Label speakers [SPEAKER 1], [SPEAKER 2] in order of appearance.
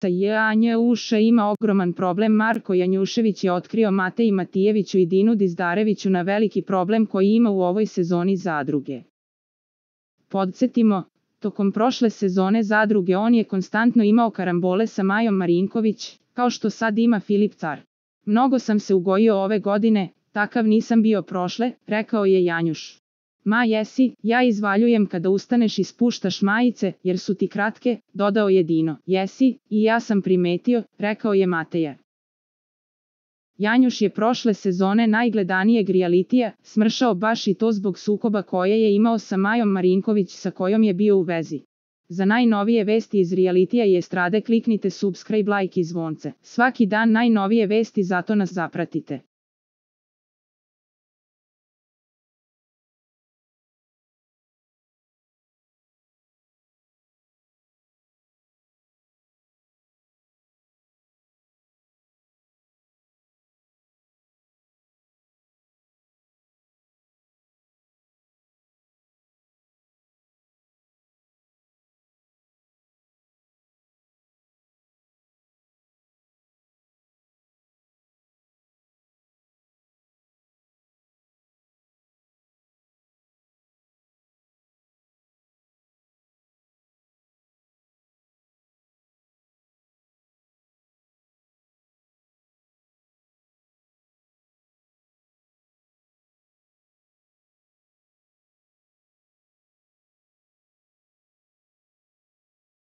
[SPEAKER 1] Janjuš ima ogroman problem. Marko Janjušević je otkrio Mateji Matijeviću i Dinu Dizdareviću na veliki problem koji ima u ovoj sezoni Zadruge. Podsjetimo, tokom prošle sezone Zadruge on je konstantno imao karambole sa Majom Marinković, kao što sad ima Filip Car. Mnogo sam se ugojio ove godine, takav nisam bio prošle, rekao je Janjuš. Ma jesi, ja izvaljujem kada ustaneš i spuštaš majice, jer su ti kratke, dodao je Dino. Jesi, i ja sam primetio, rekao je Mateja. Janjuš je prošle sezone najgledanijeg realitija smršao baš i to zbog sukoba koje je imao sa Majom Marinković sa kojom je bio u vezi. Za najnovije vesti iz realitija i estrade kliknite subscribe, like i zvonce. Svaki dan najnovije vesti, zato nas zapratite.